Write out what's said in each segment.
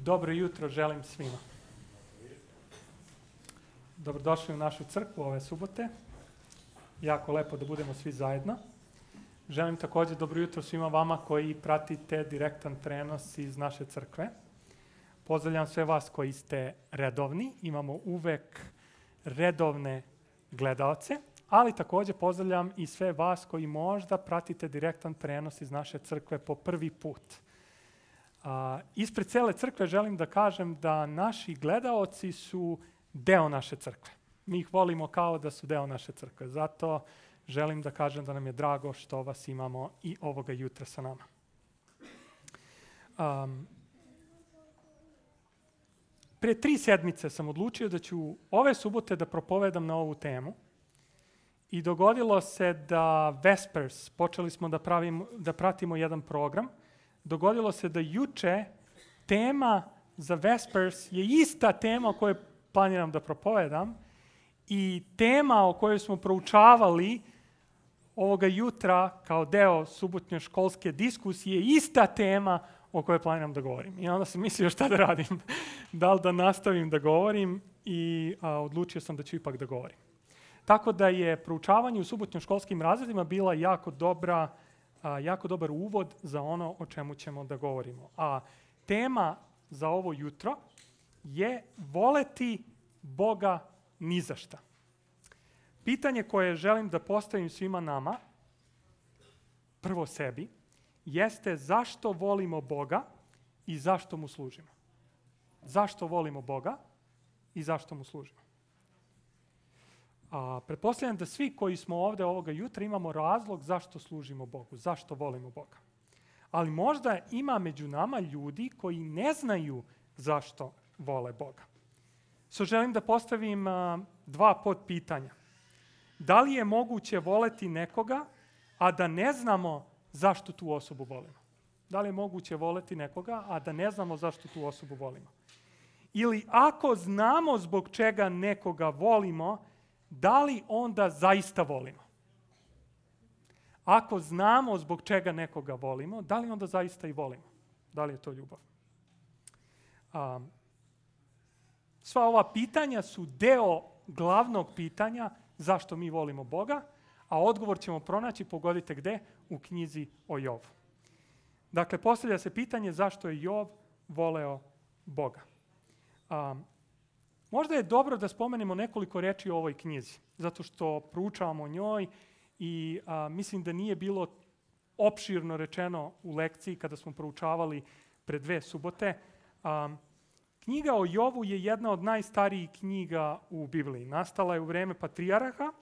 Dobro jutro želim svima. Dobrodošli u našu crkvu ove subote. Jako lepo da budemo svi zajedno. Želim također dobro jutro svima vama koji pratite direktan prenos iz naše crkve. Pozdravljam sve vas koji ste redovni. Imamo uvek redovne gledaoce, ali također pozdravljam i sve vas koji možda pratite direktan prenos iz naše crkve po prvi put. Ispred cele crkve želim da kažem da naši gledaoci su deo naše crkve. Mi ih volimo kao da su deo naše crkve. Zato želim da kažem da nam je drago što vas imamo i ovoga jutra sa nama. Prije 3 sedmice sam odlučio da ću ove subote da propovedam na ovu temu. I dogodilo se da Vespers, počeli smo da pratimo jedan program, dogodilo se da juče tema za Vespers je ista tema o kojoj planiram da propovedam i tema o kojoj smo proučavali ovoga jutra kao deo subotnje školske diskusije je ista tema o kojoj planiram da govorim. I onda sam mislio šta da radim, da li da nastavim da govorim i odlučio sam da ću ipak da govorim. Tako da je proučavanje u subotnjim školskim razredima bila jako dobar uvod za ono o čemu ćemo da govorimo. A tema za ovo jutro je voleti Boga ni za šta. Pitanje koje želim da postavim svima nama, prvo sebi, jeste zašto volimo Boga i zašto mu služimo. Zašto volimo Boga i zašto mu služimo. Pretpostavljam da svi koji smo ovdje ovoga jutra imamo razlog zašto služimo Bogu, zašto volimo Boga. Ali možda ima među nama ljudi koji ne znaju zašto vole Boga. Želim da postavim 2 podpitanja. Da li je moguće voleti nekoga, a da ne znamo zašto tu osobu volimo? Da li je moguće voleti nekoga, a da ne znamo zašto tu osobu volimo? Ili ako znamo zbog čega nekoga volimo, da li onda zaista volimo? Ako znamo zbog čega nekoga volimo, da li onda zaista i volimo? Da li je to ljubav? Sva ova pitanja su deo glavnog pitanja zašto mi volimo Boga, a odgovor ćemo pronaći, pogodite gde, u knjizi o Jovu. Dakle, postavlja se pitanje zašto je Jov voleo Boga. Možda je dobro da spomenemo nekoliko reči o ovoj knjizi, zato što proučavamo o njoj i mislim da nije bilo opširno rečeno u lekciji kada smo proučavali pre 2 subote. Knjiga o Jovu je jedna od najstarijih knjiga u Bibliji. Nastala je u vreme patrijarha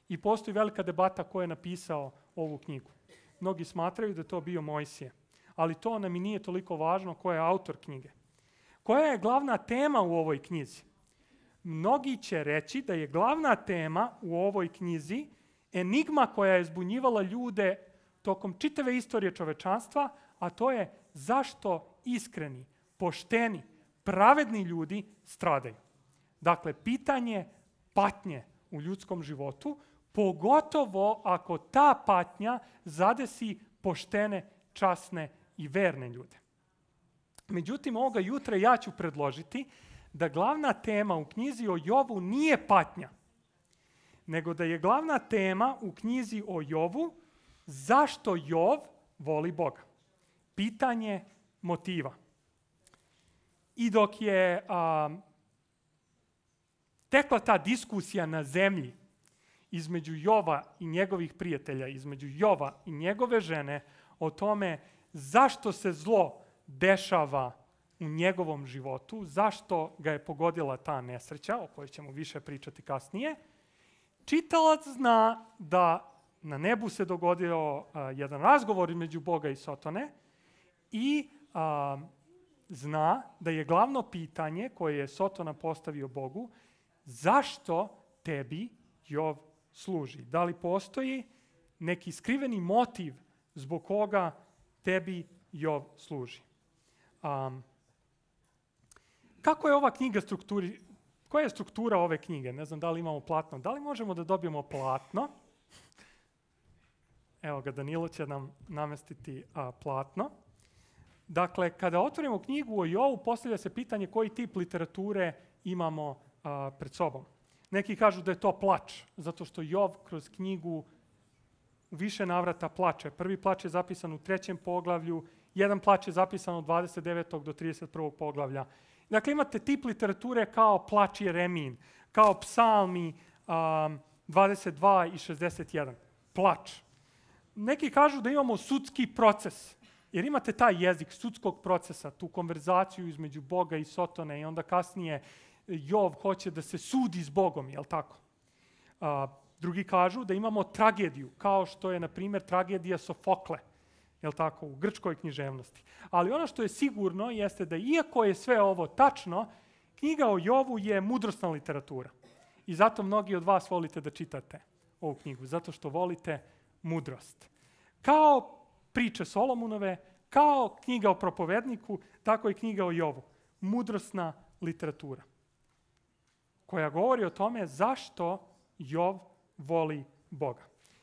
i postoji velika debata ko je napisao ovu knjigu. Mnogi smatraju da je to bio Mojsije, ali to nam i nije toliko važno ko je autor knjige. Koja je glavna tema u ovoj knjizi? Mnogi će reći da je glavna tema u ovoj knjizi enigma koja je zbunjivala ljude tokom čitave istorije čovečanstva, a to je zašto iskreni, pošteni, pravedni ljudi stradaju. Dakle, pitanje patnje u ljudskom životu, pogotovo ako ta patnja zadesi poštene, časne i verne ljude. Međutim, ovoga jutra ja ću predložiti da glavna tema u knjizi o Jovu nije patnja, nego da je glavna tema u knjizi o Jovu zašto Jov voli Boga. Pitanje motiva. I dok je tekla ta diskusija na zemlji između Jova i njegovih prijatelja, između Jova i njegove žene o tome zašto se zlo dešava u njegovom životu, zašto ga je pogodila ta nesreća, o kojoj ćemo više pričati kasnije, čitalac zna da na nebu se dogodio jedan razgovor između Boga i Sotone i zna da je glavno pitanje koje je Sotona postavio Bogu, zašto tebi Jov služi? Da li postoji neki skriveni motiv zbog koga tebi Jov služi? Kako je ova knjiga koja je struktura ove knjige? Ne znam da li imamo platno. Da li možemo da dobijemo platno? Evo ga, Danilo će nam namestiti platno. Dakle, kada otvorimo knjigu o Jovu, postavlja se pitanje koji tip literature imamo pred sobom. Neki kažu da je to plač, zato što Jov kroz knjigu u više navrata plače. Prvi plač je zapisan u 3. poglavlju, jedan plač je zapisan od 29. do 31. poglavlja. Dakle, imate tip literature kao plač Jeremijin, kao psalmi 22 i 61. Plač. Neki kažu da imamo sudski proces, jer imate taj jezik sudskog procesa, tu konverzaciju između Boga i Sotone i onda kasnije Jov hoće da se sudi s Bogom, jel tako? Drugi kažu da imamo tragediju, kao što je, na primjer, tragedija Sofokle, jel tako, u grčkoj književnosti. Ali ono što je sigurno jeste da iako je sve ovo tačno, knjiga o Jovu je mudrosna literatura. I zato mnogi od vas volite da čitate ovu knjigu, zato što volite mudrost. Kao priče Solomonove, kao knjiga o propovedniku, tako i knjiga o Jovu. Mudrosna literatura koja govori o tome zašto Jov voli Boga.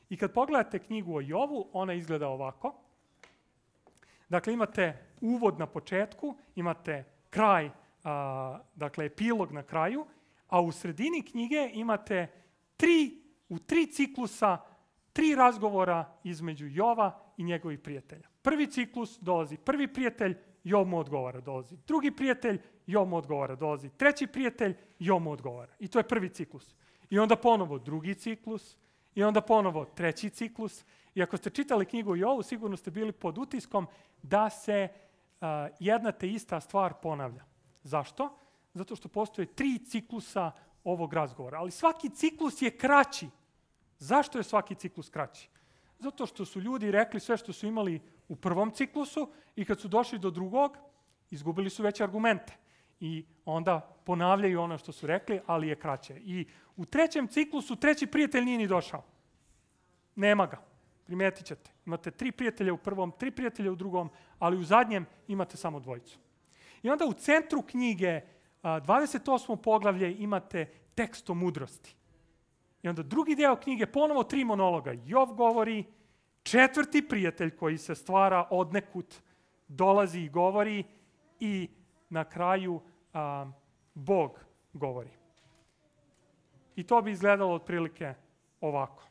I kad pogledate knjigu o Jovu, ona izgleda ovako. Dakle, imate uvod na početku, imate kraj, dakle, epilog na kraju, a u sredini knjige imate u 3 ciklusa, 3 razgovora između Jova i njegovih prijatelja. Prvi ciklus dolazi prvi prijatelj, Jov mu odgovara, dolazi drugi prijatelj, Jov mu odgovara, dolazi treći prijatelj, Jov mu odgovara. I to je prvi ciklus. I onda ponovo drugi ciklus, i onda ponovo treći ciklus. I ako ste čitali knjigu o Jovu, sigurno ste bili pod utiskom da se jedna te ista stvar ponavlja. Zašto? Zato što postoje 3 ciklusa ovog razgovora. Ali svaki ciklus je kraći. Zašto je svaki ciklus kraći? Zato što su ljudi rekli sve što su imali u prvom ciklusu i kad su došli do drugog, izgubili su već argumente. I onda ponavljaju ono što su rekli, ali je kraće. I u 3. ciklusu 3. prijatelj nije ni došao. Nema ga. Primetit ćete. Imate 3 prijatelja u prvom, 3 prijatelja u drugom, ali u zadnjem imate samo 2. I onda u centru knjige, 28. poglavlje, imate tekst o mudrosti. I onda drugi deo knjige, ponovo 3 monologa. Jov govori, 4. prijatelj koji se stvara odnekud, dolazi i govori i na kraju Bog govori. I to bi izgledalo otprilike ovako.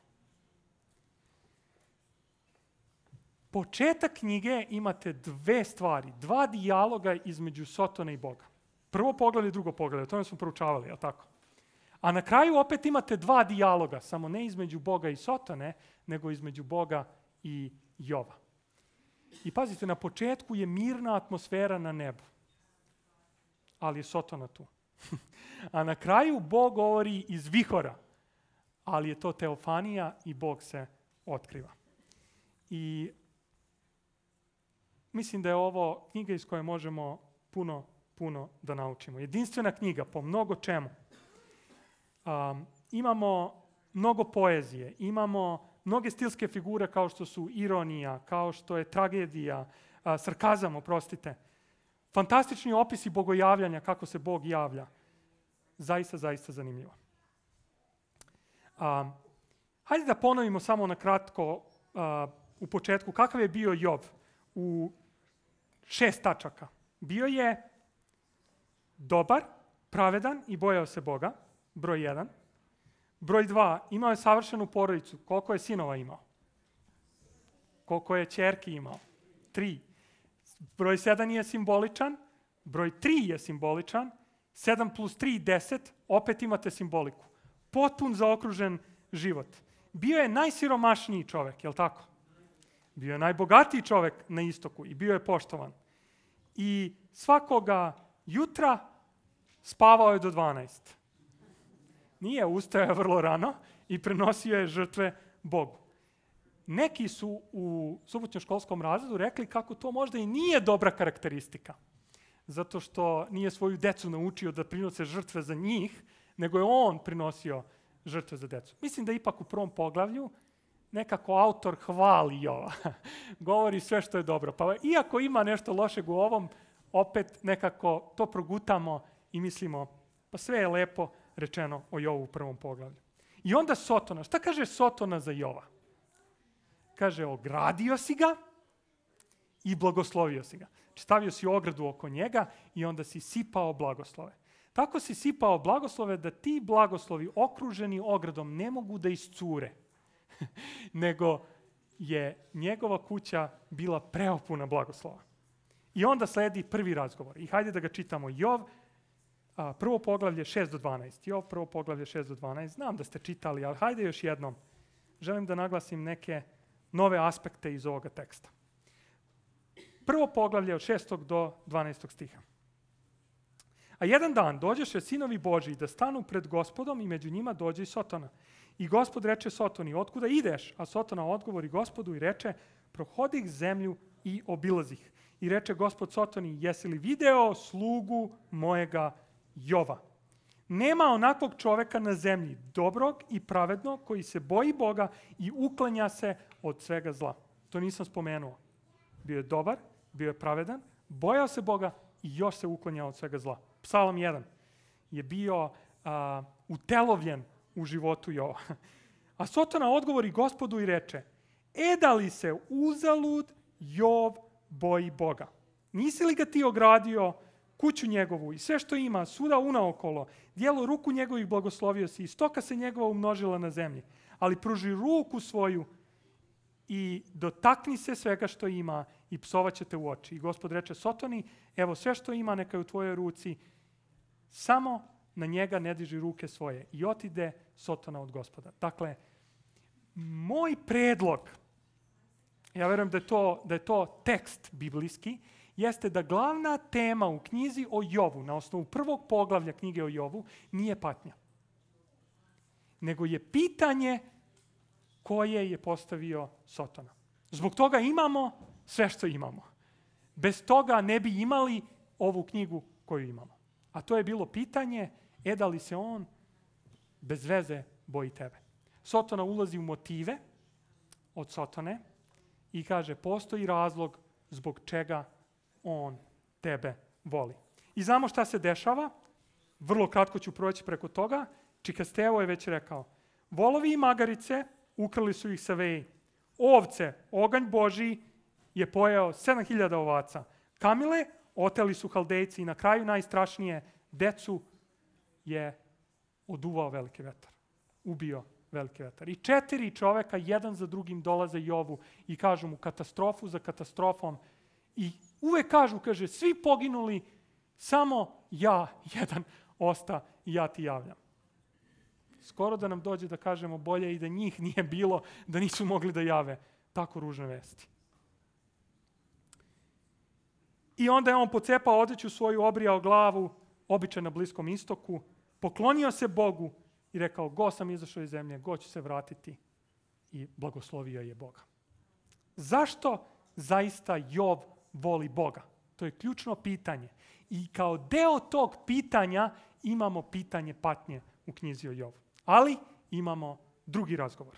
Početak knjige imate 2 stvari, 2 dijaloga između Sotone i Boga. Prvo poglavlje i drugo poglavlje, o tome smo proučavali, jel tako? A na kraju opet imate 2 dijaloga, samo ne između Boga i Sotone, nego između Boga i Jova. I pazite, na početku je mirna atmosfera na nebu, ali je Sotona tu. A na kraju Bog govori iz vihora, ali je to teofanija i Bog se otkriva. I mislim da je ovo knjiga iz koje možemo puno da naučimo. Jedinstvena knjiga po mnogo čemu. Imamo mnogo poezije, imamo mnoge stilske figure kao što su ironija, kao što je tragedija, sarkazam, oprostite. Fantastični opisi bogojavljanja, kako se Bog javlja. Zaista zanimljivo. Hajde da ponovimo samo na kratko u početku kakav je bio Jov u 6 tačaka. Bio je dobar, pravedan i bojao se Boga, broj 1. Broj 2, imao je savršenu porodicu. Koliko je sinova imao? Koliko je ćerki imao? 3. Broj 7 je simboličan, broj 3 je simboličan, 7 plus 3, 10, opet imate simboliku. Potpun zaokružen život. Bio je najsiromašniji čovek, je li tako? Bio je najbogatiji čovek na istoku i bio je poštovan. I svakoga jutra spavao je do 12. Nije, ustajao vrlo rano i prenosio je žrtve Bogu. Neki su u subotnjoškolskom razredu rekli kako to možda i nije dobra karakteristika, zato što nije svoju decu naučio da prinose žrtve za njih, nego je on prinosio žrtve za decu. Mislim da ipak u prvom poglavlju nekako autor hvali Jova. Govori sve što je dobro. Pa iako ima nešto lošeg u ovom, opet nekako to progutamo i mislimo, pa sve je lepo rečeno o Jovu u prvom poglavlju. I onda Sotona. Šta kaže Sotona za Jova? Kaže, ogradio si ga i blagoslovio si ga. stavio si ogradu oko njega i onda si sipao blagoslove. Tako si sipao blagoslove da ti blagoslovi okruženi ogradom ne mogu da iscure, nego je njegova kuća bila preopuna blagoslova. I onda sledi prvi razgovor. I hajde da ga čitamo. Jov, prvo poglavlje 6 do 12. Jov, prvo poglavlje 6 do 12. Znam da ste čitali, ali hajde još jednom. Želim da naglasim neke nove aspekte iz ovoga teksta. Prvo poglavlje od 6. do 12. stiha. A jedan dan dođeše sinovi Božiji da stanu pred Gospodom i među njima dođe i Sotona. I Gospod reče Sotoni, otkuda ideš? A Sotona odgovori Gospodu i reče, prohodih zemlju i obilazih. I reče Gospod Sotoni, jesi li video slugu mojega Jova? Nema onakvog čoveka na zemlji, dobrog i pravednog, koji se boji Boga i uklanja se od svega zla. To nisam spomenuo. Bio je dobar, bio je pravedan, bojao se Boga i još se uklanjao od svega zla. Psalam 1 je bio utelovljen u životu Jova. A Sotona odgovori Gospodu i reče, da li se uzalud Jov boji Boga? Nisi li ga ti ogradio, kuću njegovu i sve što ima, svuda unaokolo, dijelo ruku njegovih blagoslovio si i stoka se njegova umnožila na zemlji. Ali pruži ruku svoju i dotakni se svega što ima i psovaće te u oči. I Gospod reče Sotoni, evo sve što ima neka je u tvojoj ruci, samo na njega ne diži ruke svoje. I otide Sotona od Gospoda. Dakle, moj predlog, ja verujem da je to tekst biblijski, jeste da glavna tema u knjizi o Jovu, na osnovu prvog poglavlja knjige o Jovu, nije patnja. Nego je pitanje koje je postavio Sotona. Zbog toga imamo sve što imamo. Bez toga ne bi imali ovu knjigu koju imamo. A to je bilo pitanje, da li se on bez veze boji tebe. Sotona ulazi u motive od Sotone i kaže, postoji razlog zbog čega on tebe voli. I znamo šta se dešava. Vrlo kratko ću proći preko toga. Čikastevo je već rekao, volovi i magarice ukrali su ih sa veji. Ovce, oganj Božiji je pojeo 7000 ovaca. Kamile oteli su Haldejci i na kraju najstrašnije, decu je oduvao veliki vetar. Ubio veliki vetar. I 4 čoveka, jedan za drugim, dolaze Jovu i kažu mu katastrofu za katastrofom. I uvek kaže, svi poginuli, samo ja, jedan, osta i ja ti javljam. Skoro da nam dođe da kažemo bolje i da njih nije bilo, da nisu mogli da jave tako ružne vesti. I onda je on pocepao odeću svoju, obrijao glavu, običaj na Bliskom istoku, poklonio se Bogu i rekao, go sam izašao iz zemlje, go ću se vratiti, i blagoslovio je Boga. Zašto zaista Jov voli Boga? To je ključno pitanje. I kao deo tog pitanja imamo pitanje patnje u knjizi o Jovu. Ali imamo drugi razgovor.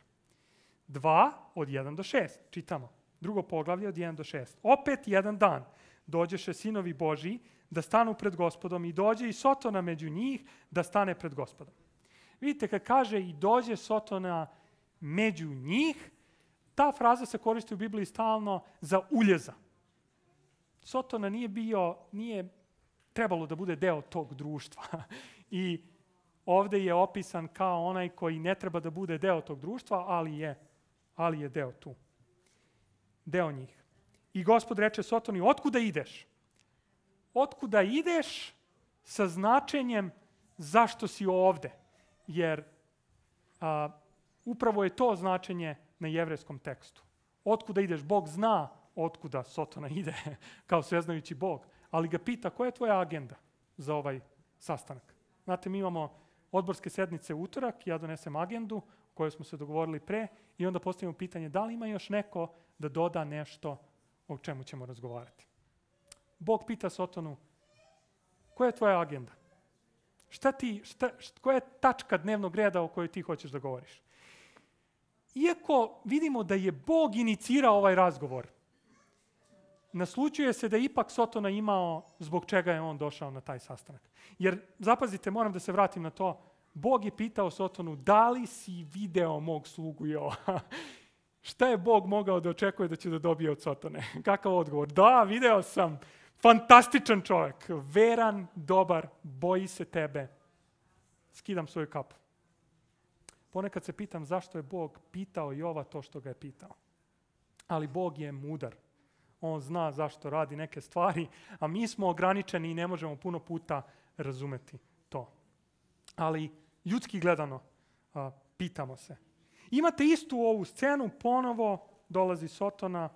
2 od 1 do 6. Čitamo. Drugo poglavlje od 1 do 6. Opet jedan dan dođeše sinovi Božiji da stanu pred Gospodom i dođe i Sotona među njih da stane pred Gospodom. Vidite, kad kaže i dođe Sotona među njih, ta fraza se koristi u Bibliji stalno za uljeza. Sotona nije trebalo da bude deo tog društva. I ovde je opisan kao onaj koji ne treba da bude deo tog društva, ali je deo tu. Deo njih. I Gospod reče Sotoni, otkuda ideš? Otkuda ideš sa značenjem zašto si ovde? Jer upravo je to značenje na jevrejskom tekstu. Otkuda ideš? Bog zna otkuda Sotona ide, kao sveznajući Bog. Ali ga pita, koja je tvoja agenda za ovaj sastanak? Znate, mi imamo odborske sednice u utorak, ja donesem agendu o kojoj smo se dogovorili pre i onda postavimo pitanje da li ima još neko da doda nešto o čemu ćemo razgovarati. Bog pita Sotonu, koja je tvoja agenda? Koja je tačka dnevnog reda o kojoj ti hoćeš da govoriš? Iako vidimo da je Bog inicirao ovaj razgovor, naslućuje se da je ipak Sotona imao zbog čega je on došao na taj sastanak. Jer, zapazite, moram da se vratim na to, Bog je pitao Sotonu, da li si video mog slugu Jova? Šta je Bog mogao da očekuje da će da dobije od Sotone? Kakav odgovor? Da, video sam. fantastičan čovjek, veran, dobar, boji se tebe. Skidam svoju kapu. Ponekad se pitam zašto je Bog pitao Jova to što ga je pitao. Ali Bog je mudar. On zna zašto radi neke stvari, a mi smo ograničeni i ne možemo puno puta razumeti to. Ali ljudski gledano, pitamo se. Imate istu ovu scenu, ponovo dolazi Sotona,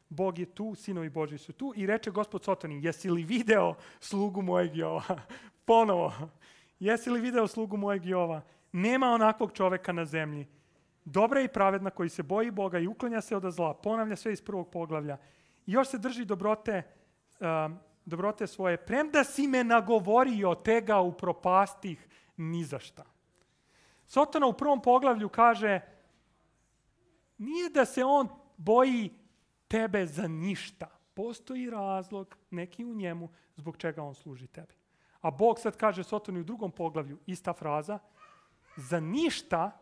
Bog je tu, sinovi Božji su tu i reče Gospod Sotoni, jesi li video slugu mojeg Jova? Ponovo, jesi li video slugu mojeg Jova? Nema onakvog čoveka na zemlji. Dobra i pravedna koji se boji Boga i uklanja se od zla. Ponavlja sve iz prvog poglavlja. I još se drži dobrote svoje. Premda si me nagovorio, te ga upropastih ni za šta. Sotona u prvom poglavlju kaže, nije da se on boji tebe za ništa. Postoji razlog, neki u njemu, zbog čega on služi tebi. A Bog sad kaže Sotoni u drugom poglavlju, ista fraza, za ništa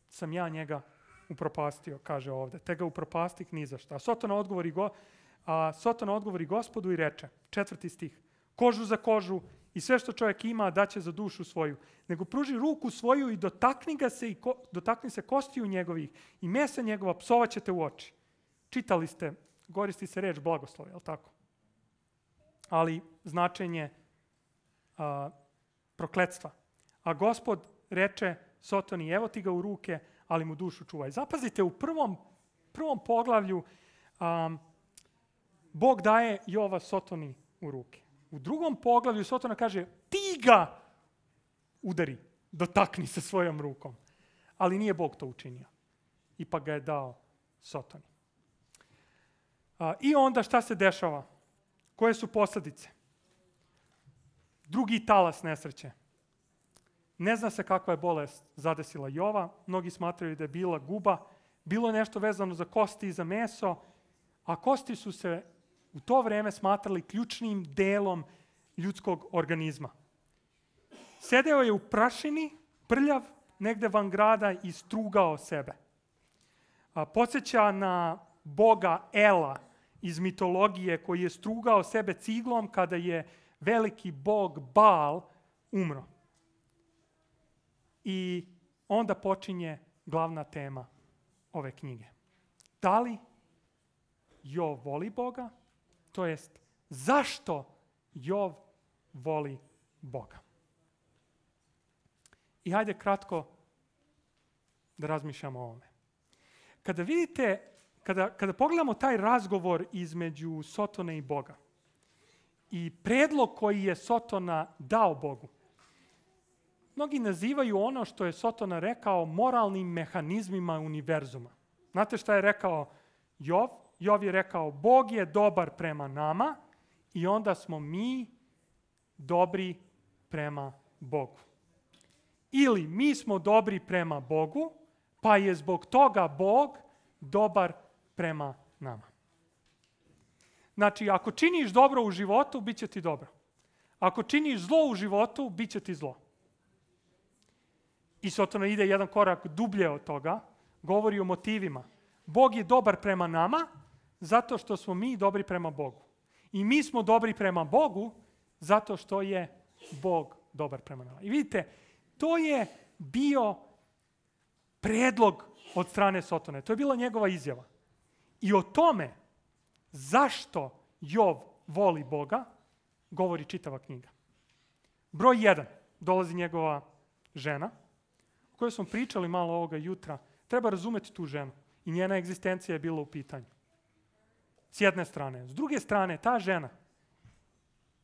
sam ja njega upropastio, kaže ovdje. Te ga upropastih ni za šta. Sotona odgovori Gospodu i reče, 4. stih, kožu za kožu i sve što čovjek ima daće za dušu svoju. Nego pruži ruku svoju i dotakni se kostiju njegovih i mesa njegova psovat ćete u oči. Čitali ste, koristi se reč blagoslov, je li tako? Ali značenje prokletstva. A Gospod reče Sotoni, evo ti ga u ruke, ali mu dušu čuvaj. Zapazite, u prvom poglavlju Bog daje Jova Sotoni u ruke. U drugom poglavlju Sotona kaže, ti ga udari, dotakni se svojom rukom. Ali nije Bog to učinio. Ipak ga je dao Sotoni. I onda šta se dešava? Koje su posljedice? Drugi talas nesreće. Ne zna se kakva je bolest zadesila Jova. Mnogi smatraju da je bila guba. Bilo je nešto vezano za kosti i za meso, a kosti su se u to vrijeme smatrali ključnim delom ljudskog organizma. Sedeo je u prašini, prljav, negde van grada i strugao sebe. Podsjeća na boga Ela iz mitologije koji je strugao sebe ciglom kada je veliki bog Baal umro. I onda počinje glavna tema ove knjige. Da li Jov voli Boga? To jest, zašto Jov voli Boga? I hajde kratko da razmišljamo o ovome. Kada vidite, kada pogledamo taj razgovor između Sotone i Boga i predlog koji je Sotona dao Bogu, mnogi nazivaju ono što je Sotona rekao moralnim mehanizmima univerzuma. Znate šta je rekao Jov? Jov je rekao, Bog je dobar prema nama i onda smo mi dobri prema Bogu. Ili mi smo dobri prema Bogu, pa je zbog toga Bog dobar prema nama. Znači, ako činiš dobro u životu, bit će ti dobro. Ako činiš zlo u životu, bit će ti zlo. I Sotona ide jedan korak dublje od toga, govori o motivima. Bog je dobar prema nama, zato što smo mi dobri prema Bogu. I mi smo dobri prema Bogu, zato što je Bog dobar prema nama. I vidite, to je bio predlog od strane Sotone. To je bila njegova izjava. I o tome zašto Jov voli Boga, govori čitava knjiga. Broj 1, dolazi njegova žena, o kojoj smo pričali malo ovoga jutra. Treba razumjeti tu ženu. I njena egzistencija je bila u pitanju. S jedne strane. S druge strane, ta žena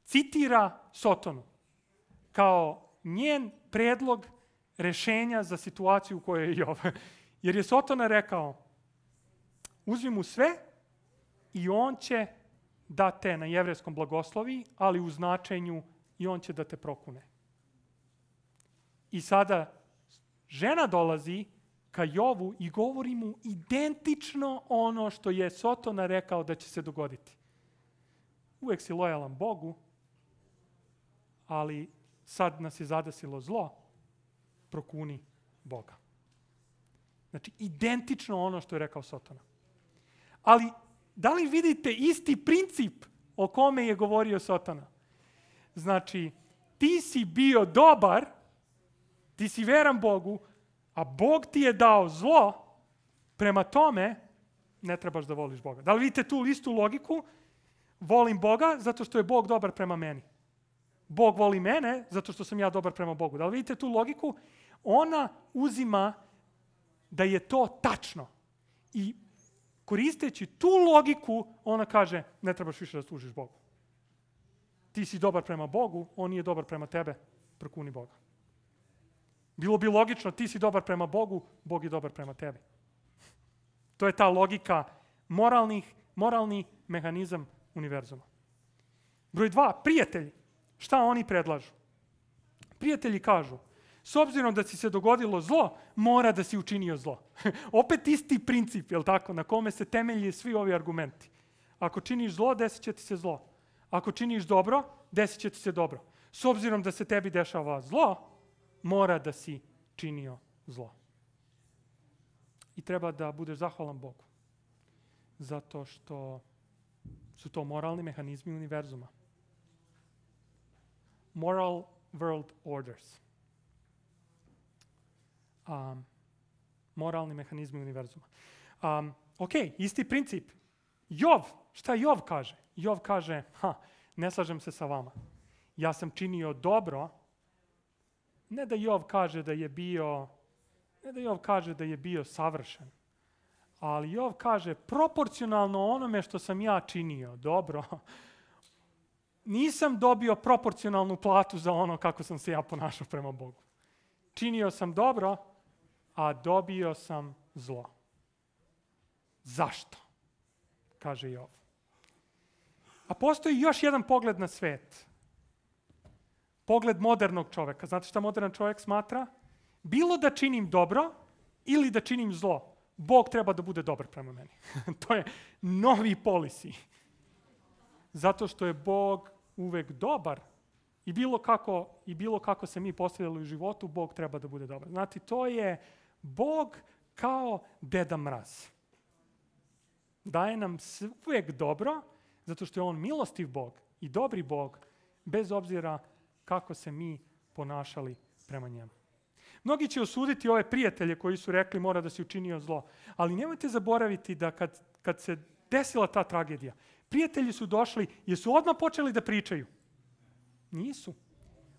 citira Sotonu kao njen predlog rešenja za situaciju u kojoj je Jov. Jer je Sotona rekao, uzmi mu sve i on će da te na jevrejskom blagoslovi, ali u značenju i on će da te prokune. I sada žena dolazi ka Jovu i govori mu identično ono što je Sotona rekao da će se dogoditi. Uvijek si lojalan Bogu, ali sad nas je zadesilo zlo, prokuni Boga. Znači, identično ono što je rekao Sotona. Ali, da li vidite isti princip o kome je govorio Satana. Znači, ti si bio dobar, ti si veran Bogu, a Bog ti je dao zlo, prema tome ne trebaš da voliš Boga. Da li vidite tu istu logiku? Volim Boga zato što je Bog dobar prema meni. Bog voli mene zato što sam ja dobar prema Bogu. Da li vidite tu logiku? Ona uzima da je to tačno. I koristeći tu logiku, ona kaže, ne trebaš više da služiš Bogu. Ti si dobar prema Bogu, on nije dobar prema tebe, prokuni Boga. Bilo bi logično, ti si dobar prema Bogu, Bog je dobar prema tebi. To je ta logika, moralni mehanizam univerzuma. Broj 2, prijatelji. Šta oni predlažu? Prijatelji kažu, s obzirom da si se dogodilo zlo, mora da si učinio zlo. Opet isti princip, je li tako, na kome se temelji svi ovi argumenti. Ako činiš zlo, desit će ti se zlo. Ako činiš dobro, desit će ti se dobro. S obzirom da se tebi dešava zlo, mora da si činio zlo. I treba da budeš zahvalan Bogu. Zato što su to moralni mehanizmi univerzuma. Moral world orders. Moralni mehanizmi univerzuma. Ok, isti princip. Jov, šta Jov kaže? Jov kaže, ne slažem se sa vama. Ja sam činio dobro. Ne da Jov kaže da je bio savršen, ali Jov kaže proporcionalno onome što sam ja činio dobro, nisam dobio proporcionalnu platu za ono kako sam se ja ponašao prema Bogu. Činio sam dobro, a dobio sam zlo. Zašto? Kaže Jov. A postoji još jedan pogled na svet. Pogled modernog čoveka. Znate šta modern čovjek smatra? Bilo da činim dobro ili da činim zlo, Bog treba da bude dobar prema meni. To je novi policy. Zato što je Bog uvek dobar i bilo kako se mi postavljali u životu, Bog treba da bude dobar. Znate, to je Bog kao Deda Mraz. Daje nam uvek dobro, zato što je on milostiv Bog i dobri Bog, bez obzira kako se mi ponašali prema njemu. Mnogi će osuditi ove prijatelje koji su rekli mora da si učinio zlo. Ali nemojte zaboraviti da kad se desila ta tragedija, prijatelji su došli, jesu odmah počeli da pričaju? Nisu.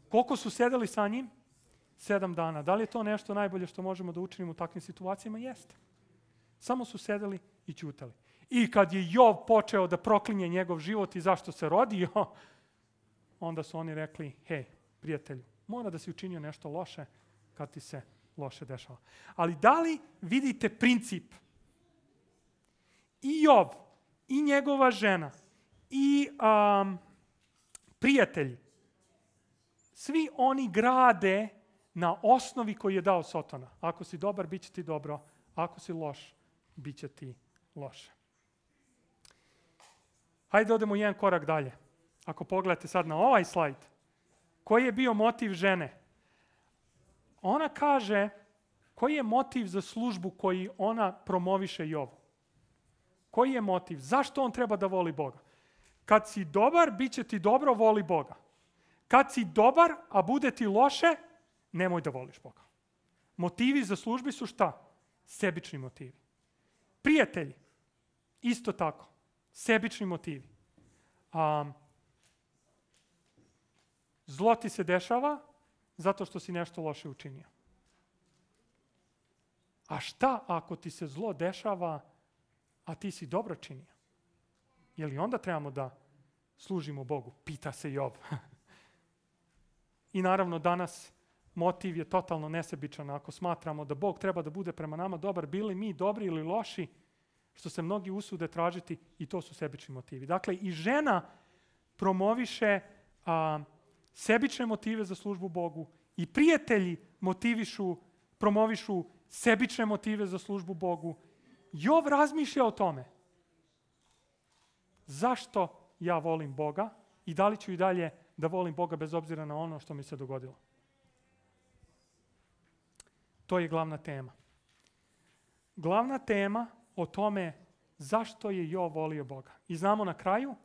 Koliko su sedeli sa njim? 7 dana. Da li je to nešto najbolje što možemo da učinimo u takvim situacijama? Jeste. Samo su sedeli i ćutali. I kad je Jov počeo da proklinje njegov život i zašto se rodio, onda su oni rekli, hej, prijatelju, mora da si učinio nešto loše kad ti se loše dešava. Ali da li vidite princip? I Jov, i njegova žena, i prijatelji, svi oni grade na osnovi koju je dao Satana. Ako si dobar, bit će ti dobro. Ako si loš, bit će ti loše. Hajde odemo jedan korak dalje. Ako pogledate sad na ovaj slajd, koji je bio motiv žene? Ona kaže, koji je motiv za službu koji ona promoviše Jovu? Koji je motiv? Zašto on treba da voli Boga? Kad si dobar, bit će ti dobro, voli Boga. Kad si dobar, a bude ti loše, nemoj da voliš Boga. Motivi za službi su šta? Sebični motivi. Prijatelji, isto tako. Sebični motivi. Zlo ti se dešava zato što si nešto loše učinio. A šta ako ti se zlo dešava, a ti si dobro činio? Je li onda trebamo da služimo Bogu? Pita se Jov. I naravno danas motiv je totalno nesebičan. Ako smatramo da Bog treba da bude prema nama dobar, bili mi dobri ili loši, što se mnogi usude tražiti, i to su sebični motivi. Dakle, i žena promoviše sebične motive za službu Bogu, i prijatelji promovišu sebične motive za službu Bogu. Jov razmišlja o tome. Zašto ja volim Boga i da li ću i dalje da volim Boga bez obzira na ono što mi se dogodilo? To je glavna tema. Glavna tema o tome zašto je Jov volio Boga. I znamo na kraju,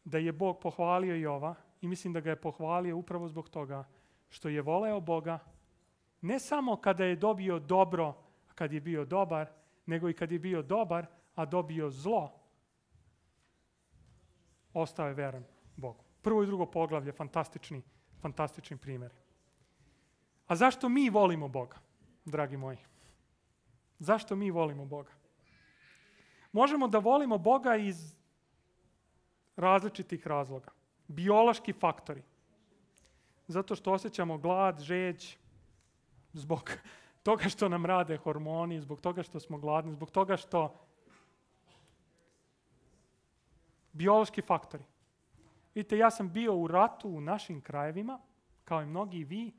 da je Bog pohvalio Jova i mislim da ga je pohvalio upravo zbog toga što je voleo Boga ne samo kada je dobio dobro, a kad je bio dobar, nego i kad je bio dobar, a dobio zlo, ostao je veran Bogu. Prvo i drugo poglavlje, fantastični primjeri. A zašto mi volimo Boga, dragi moji? Zašto mi volimo Boga? Možemo da volimo Boga iz različitih razloga. Biološki faktori. Zato što osjećamo glad, žeđ, zbog toga što nam rade hormoni, zbog toga što smo gladni, zbog toga što... Biološki faktori. Vidite, ja sam bio u ratu u našim krajevima, kao i mnogi vi,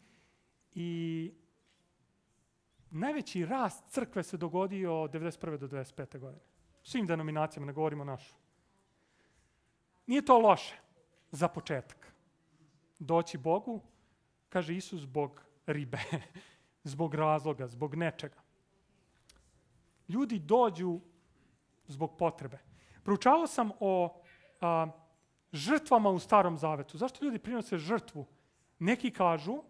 i najveći rast crkve se dogodio od 1991. do 1995. godine. Svim denominacijama, ne govorimo našu. Nije to loše za početak. Doći Bogu, kaže Isus, zbog ribe, zbog razloga, zbog nečega. Ljudi dođu zbog potrebe. Proučavao sam o žrtvama u Starom Zavetu. Zašto ljudi prinose žrtvu? Neki kažu,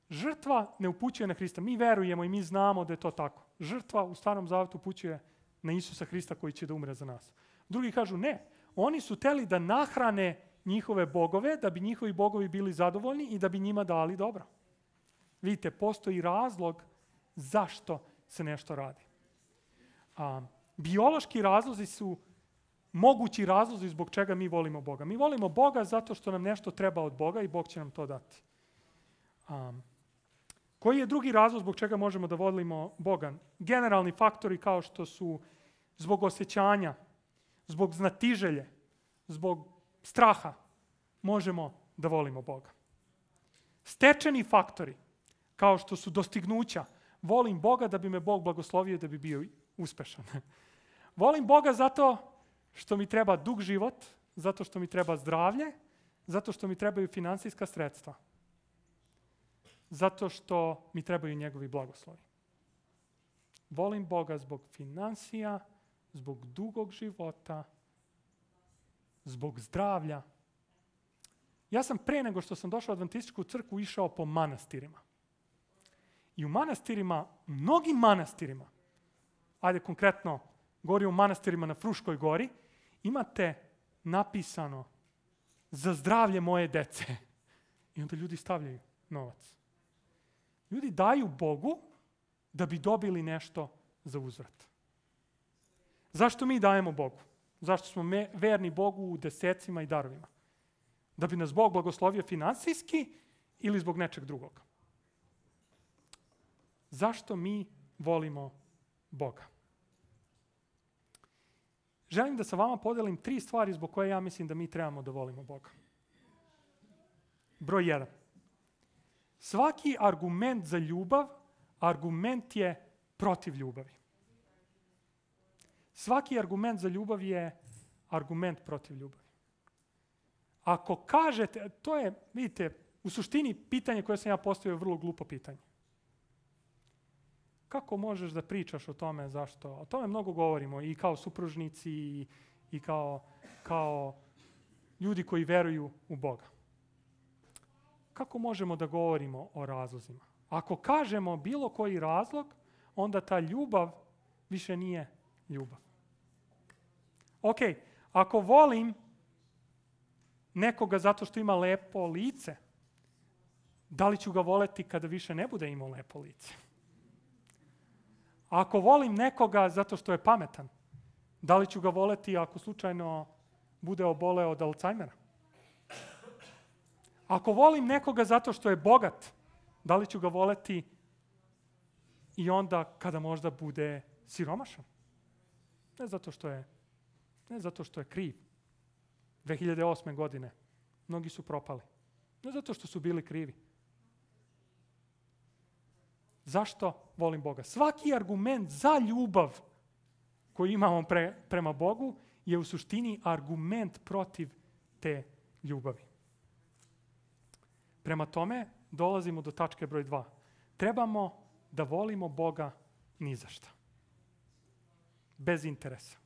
žrtva ne upućuje na Hrista. Mi verujemo i mi znamo da je to tako. Žrtva u Starom Zavetu upućuje na Isusa Hrista koji će da umre za nas. Drugi kažu ne. Oni su hteli da nahrane njihove bogove, da bi njihovi bogovi bili zadovoljni i da bi njima dali dobro. Vidite, postoji razlog zašto se nešto radi. Biološki razlozi su mogući razlozi zbog čega mi volimo Boga. Mi volimo Boga zato što nam nešto treba od Boga i Bog će nam to dati. Koji je drugi razlog zbog čega možemo da volimo Boga? Generalni faktori kao što su zbog osjećanja, zbog znatiželje, zbog straha možemo da volimo Boga. Stečeni faktori kao što su dostignuća. Volim Boga da bi me Bog blagoslovio da bi bio uspešan. Volim Boga zato što mi treba dug život, zato što mi treba zdravlje, zato što mi trebaju finansijska sredstva. Zato što mi trebaju njegovi blagoslovi. Volim Boga zbog finansija, zbog dugog života, zbog zdravlja. Ja sam pre nego što sam došao u Adventističku crkvu išao po manastirima. I u manastirima, mnogim manastirima, ajde konkretno, govorim o manastirima na Fruškoj gori, imate napisano za zdravlje moje dece. I onda ljudi stavljaju novac. Ljudi daju Bogu da bi dobili nešto za uzvrat. Zašto mi dajemo Bogu? Zašto smo verni Bogu u desecima i darovima? Da bi nas Bog blagoslovio finansijski ili zbog nečeg drugog? Zašto mi volimo Boga? Želim da sa vama podelim 3 stvari zbog koje ja mislim da mi trebamo da volimo Boga. Broj 1. Svaki argument za ljubav, argument je protiv ljubavi. Svaki argument za ljubav je argument protiv ljubavi. Ako kažete, to je, vidite, u suštini pitanje koje sam ja postavio je vrlo glupo pitanje. Kako možeš da pričaš o tome, zašto? O tome mnogo govorimo i kao supružnici i kao ljudi koji veruju u Boga. Kako možemo da govorimo o razlozima? Ako kažemo bilo koji razlog, onda ta ljubav više nije ljubav. Ok, ako volim nekoga zato što ima lepo lice, da li ću ga voleti kada više ne bude imao lepo lice? Ako volim nekoga zato što je pametan, da li ću ga voleti ako slučajno bude oboleo od Alzheimera? Ako volim nekoga zato što je bogat, da li ću ga voleti i onda kada možda bude siromašan? Ne zato što je kriv. 2008. godine mnogi su propali. Ne zato što su bili krivi. Zašto volim Boga? Svaki argument za ljubav koji imamo prema Bogu je u suštini argument protiv te ljubavi. Prema tome, dolazimo do tačke broj 2. Trebamo da volimo Boga ni za šta. Bez interesa.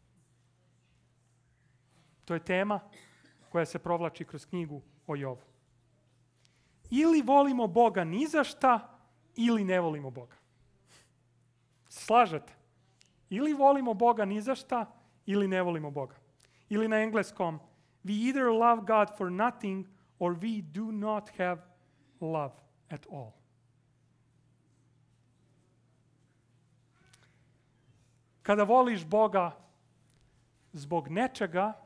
To je tema koja se provlači kroz knjigu o Jovu. Ili volimo Boga ni za šta, ili ne volimo Boga. Slažete? Ili volimo Boga ni za šta, ili ne volimo Boga. Ili na engleskom, we either love God for nothing or we do not have love at all. Kada voliš Boga zbog nečega,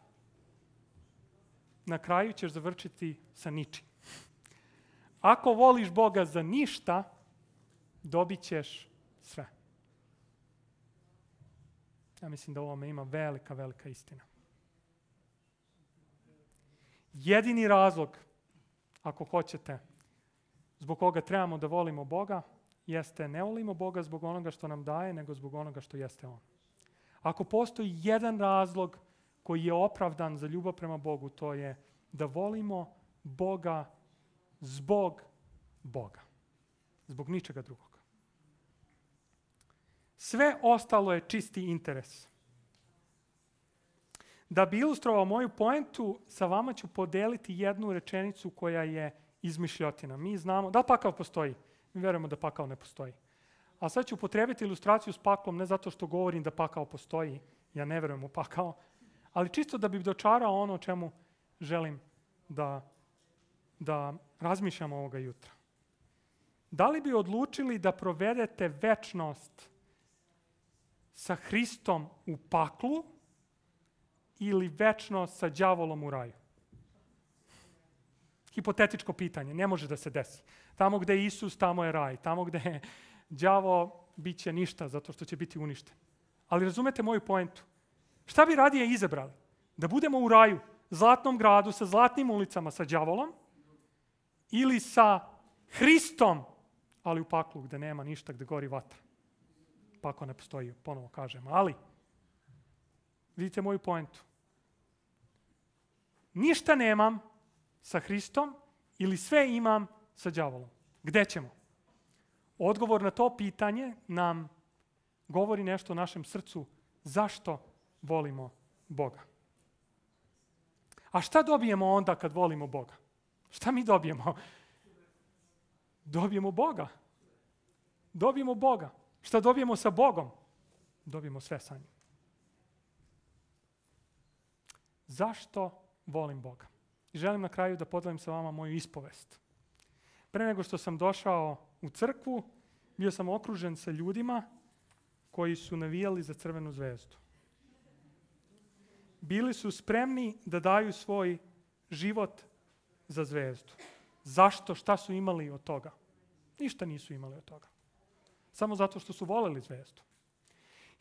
na kraju ćeš završiti sa ničim. Ako voliš Boga za ništa, dobit ćeš sve. Ja mislim da u ovome ima velika, velika istina. Jedini razlog, ako hoćete, zbog koga trebamo da volimo Boga, jeste ne volimo Boga zbog onoga što nam daje, nego zbog onoga što jeste On. Ako postoji jedan razlog koji je opravdan za ljubav prema Bogu, to je da volimo Boga zbog Boga. Zbog ničega drugog. Sve ostalo je čisti interes. Da bi ilustrovao moju poentu, sa vama ću podeliti jednu rečenicu koja je izmišljotina. Mi znamo, da li pakao postoji? Mi verujemo da pakao ne postoji. A sad ću upotrebiti ilustraciju s paklom, ne zato što govorim da pakao postoji, ja ne verujem u pakao, ali čisto da bih dočarao ono o čemu želim da razmišljamo ovoga jutra. Da li bi odlučili da provedete večnost sa Hristom u paklu ili večnost sa đavolom u raju? Hipotetičko pitanje, ne može da se desi. Tamo gde je Isus, tamo je raj. Tamo gde je đavo, bit će ništa, zato što će biti uništen. Ali razumete moju poentu. Šta bi radije izabrali? Da budemo u raju, zlatnom gradu, sa zlatnim ulicama, sa đavolom, ili sa Hristom, ali u paklu gde nema ništa, gde gori vatra. Pakao ne postoji, ponovo kažem. Ali, vidite moju poentu. Ništa nemam sa Hristom ili sve imam sa đavolom. Gde ćemo? Odgovor na to pitanje nam govori nešto o našem srcu. Zašto volimo Boga? A šta dobijemo onda kad volimo Boga? Šta mi dobijemo? Dobijemo Boga. Dobijemo Boga. Šta dobijemo sa Bogom? Dobijemo sve sa njim. Zašto volim Boga? I želim na kraju da podelim sa vama moju ispovest. Pre nego što sam došao u crkvu, bio sam okružen sa ljudima koji su navijali za Crvenu zvezdu. Bili su spremni da daju svoj život za zvezdu. Zašto? Šta su imali od toga? Ništa nisu imali od toga. Samo zato što su voleli zvezdu.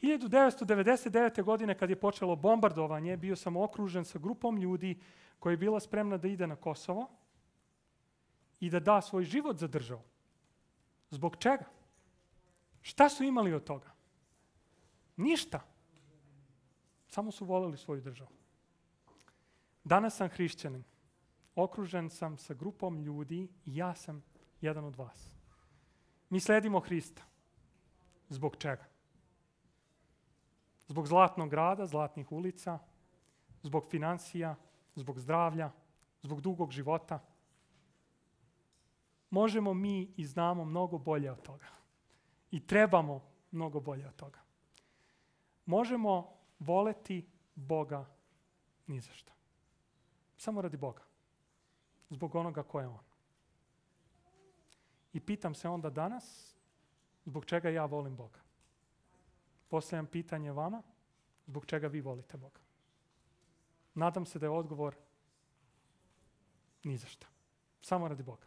1999. godine kad je počelo bombardovanje, bio sam okružen sa grupom ljudi koja je bila spremna da ide na Kosovo i da da svoj život za državu. Zbog čega? Šta su imali od toga? Ništa. Samo su voleli svoju državu. Danas sam hrišćanin. Okružen sam sa grupom ljudi i ja sam jedan od vas. Mi sledimo Hrista. Zbog čega? Zbog zlatnog grada, zlatnih ulica, zbog financija, zbog zdravlja, zbog dugog života. Možemo mi i znamo mnogo bolje od toga. I trebamo mnogo bolje od toga. Možemo voleti Boga ni za šta. Samo radi Boga. Zbog onoga ko je On. I pitam se onda danas, zbog čega ja volim Boga? Postavljam pitanje vama, zbog čega vi volite Boga? Nadam se da je odgovor ni za šta. Samo radi Boga.